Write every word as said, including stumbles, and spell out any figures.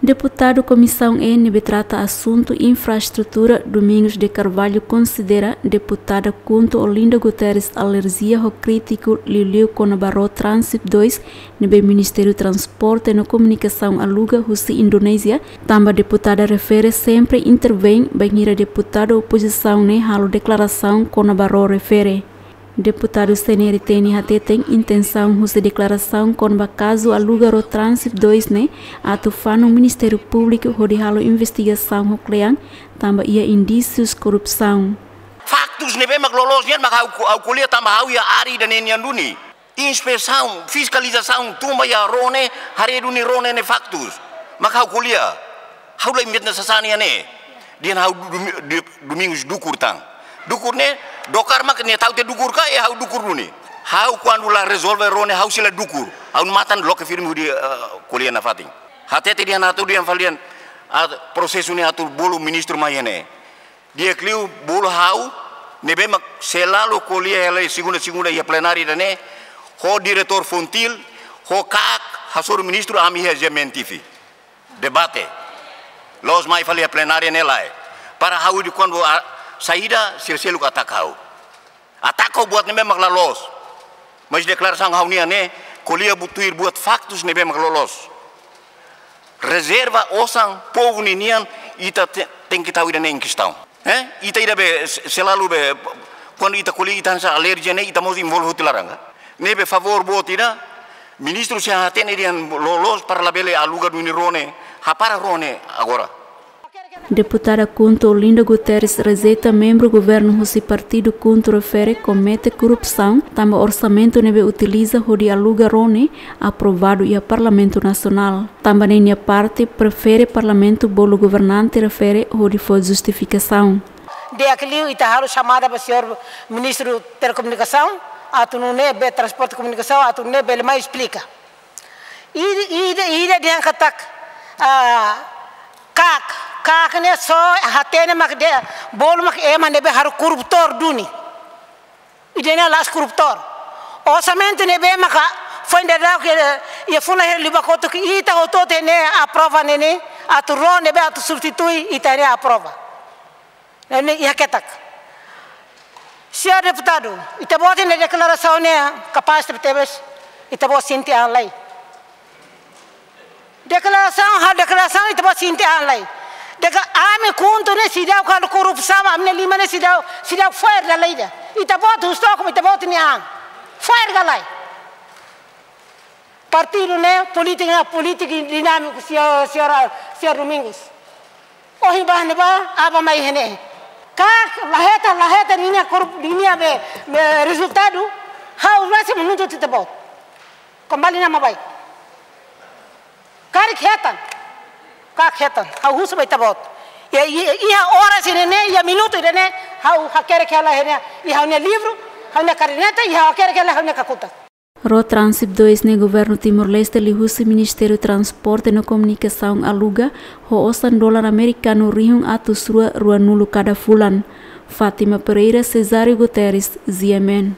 Deputadu Komisaun E ne'ebé trata asuntu infraestrutura, Domingos de Carvalho, konsidera deputada KHUNTO Olinda Guterres alerjia ho krítiku liuliu kona-ba ró Transip dois ne'ebé Ministériu Transporte no Komunikasaun aluga husi Indonézia, tanba deputada refere sempre intervein bainhira deputadu opozisaun ne'e halo deklarasaun kona-ba ró refere. Deputadu C N R T ne'e hateten intensaun husi deklarasaun kona-ba kazu aluga ró Transip dois ne'e atu fanu Ministériu Públiku hodi halo investigasaun ho kle'an, tanba iha indísius korrupsaun. Faktus ne'ebé mak loloos nian mak ha'u, ha'u ko'alia tanba ha'u iha área ida-ne'e nian duni. Inspesaun, fiskalizasaun, tun ba iha ró ne'e, haree duni ró ne'e, ne'e faktus. Mak ha'u ko'alia. Ha'u la inventa sasán iha ne'e. Dehan ha'u Domi-, Domi-, Domingos dukur tan. Dukur ne'e, dokar mak nia ta'uk tiha dukur ka, e ha'u dukur duni. Ha'u kuandu la rezolve ró ne'e, ha'u sei la dukur. Ha'u-nia matan loke firme hodi, eh, ko'alia nafatin. Hatete dehan atu dehan fali dehan, ah, prosesu ne'e atu bolu ministru mai iha ne'e. Di'ak liu bolu ha'u, ne'ebé mak selalu ko'alia hela segunda-segunda iha plenária ida-ne'e, ho diretór FONGTIL, ho KAK, hasoru ministru ami iha G M N T V. Debate. Loos mai fali iha plenária ne'e lae. Para ha'u dehan kuandu a-, saida, sira seluk ataka ha'u. Ataka buat ne'ebé mak la loos. Mas deklarasaun ha'u-nian ne'e, ko'alia buat tuir buat faktus ne'ebé mak loloos. Rezerva osan povu ninian ita te-, tenke tau ida-ne'e em questão. Eh? Ita ida be se-, selalu be, kuandu ita ko'alia ita hanesan alerjia ne'e, ita mós envolve hotu laran ka. Ne'ebé favór boot ida, ministru sei hatene dehan loloos para labele aluga duni ró ne'e, hapara ró ne'e agora. Deputada KHUNTO Olinda Guterres rejeita membru governu husi partidu KHUNTO refere komete korrupsaun, tanba orsamentu ne'ebé utiliza hodi aluga ró ne'e aprovadu iha Parlamentu Nasionál. Tanba ne'e nia parte prefere Parlamentu bolu governante refere hodi fó justifikasaun. Di'ak liu ita halo xamada ba señór Ministru Telekomunikasaun, atu nune'e be Transporte Komunikasaun, atu nune'e bele mai esplika. Ida, ida, ida dehan katak, ah, KAK, KAK ne'e só hatene mak dehan, bolu mak ema ne'ebé halo korruptór duni. Ida-ne'e la'ós korruptór. Orsamentu ne'ebé maka foin daudauk iha fulan hira liubá kotuk ita hotu-hotu ne'e aprova ne'e ne'e, atu ró ne'ebé atu substitui ita ne'e aprova. Ne'e iha ketak. Señór deputadu, ita-boot nia deklarasaun ne'e kapás tebetebes, ita-boot sente an lai. Deklarasaun, ha'u deklarasaun, ita-boot sente an lai. Dehan ami KHUNTO ne'e seidauk halo korrupsaun, ami-nia liman ne'e seidauk, seidauk fo'er dala ida. Ita-boot husu took ba ita-boot nia an. Fo'er ka lae. Partidu ne'e, polítika ne'e, polítika dinámiku, señór, señór, señór Domingos. Ohin bá ne'ebá, aban mai iha ne'e. KAK la hetan, la hetan ninia korrup-, ninia be, be rezultadu, ha'u rasik menuntut ita-boot. Kembali nama baik. Karik hetan. KAK hetan. Ha'u husu ba ita-boot. Iha, iha, iha oras ida-ne'e, iha minutu ida-ne'e, ha'u hakerek hela iha ne'e, iha ha'u-nia livru, ha'u-nia kaderneta, iha hakerek hela ha'u-nia kakutak. Ró Transip dois ne'e governu Timor-Leste liuhusi Ministériu Transporte no Komunikasaun aluga, ho osan dolar amerikanu rihun atus rua ruanulu kada fulan. Fátima Pereira, Cesário Guterres, G M N.